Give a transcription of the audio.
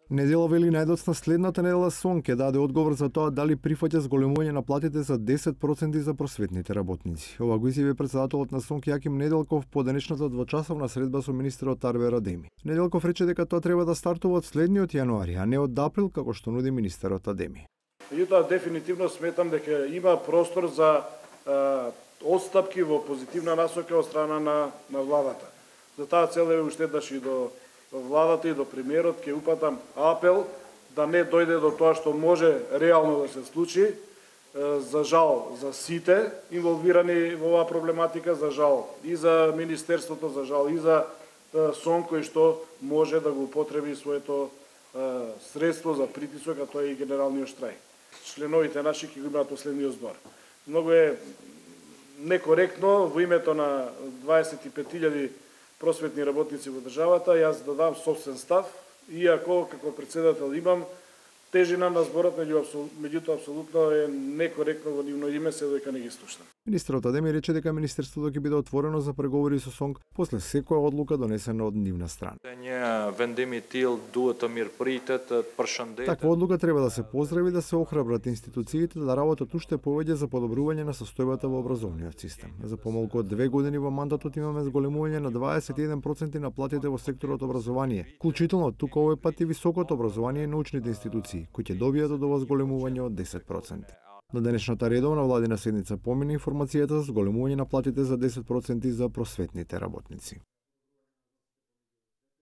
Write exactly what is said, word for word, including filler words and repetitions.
Недела вели најдоцна следната недела СОН ќе даде одговор за тоа дали прифаќа зголемување на платите за десет проценти за просветните работници. Ова го изјави председателот на СОН Јаким Неделков по денешната двочасовна средба со министерот Арвер Адеми. Неделков рече дека тоа треба да стартува од следниот јануари, а не од април како што нуди министерот Адеми. Меѓутоа дефинитивно сметам дека има простор за а, отстапки во позитивна насока од страна на на владата. За таа цел е уште еднаш и до владата и до премиерот ќе упатам апел да не дојде до тоа што може реално да се случи. За жал за сите инволвирани во оваа проблематика, за жал и за министерството, за жал и за СОН кој што може да го употреби своето средство за притисок, а тоа е и генералниот штрајк. Членовите наши ќе го имаат последниот збор. Многу е некоректно во името на дваесет и пет илјади просветни работници во државата, јас да дам собствен став, иако како председател имам тежина на зборот, меѓутоа апсолутно е некоректно во нивно име се дека не ги слушам. Министерот Адеми рече дека министерството ќе биде отворено за преговори со СОНК после секоја одлука донесена од нивна страна. Таква одлука треба да се поздрави, да се охрабрат институциите да работат уште повеќе за подобрување на состојбата во образовниот систем. За помалку од две години во мандатот имаме зголемување на дваесет и еден проценти на платите во секторот образование, вклучително тука овој пат и високото образование и научните институции, кои ќе добијат од ова зголемување од десет проценти. На денешната редовна владина седница помина информацијата за зголемување на платите за десет проценти за просветните работници.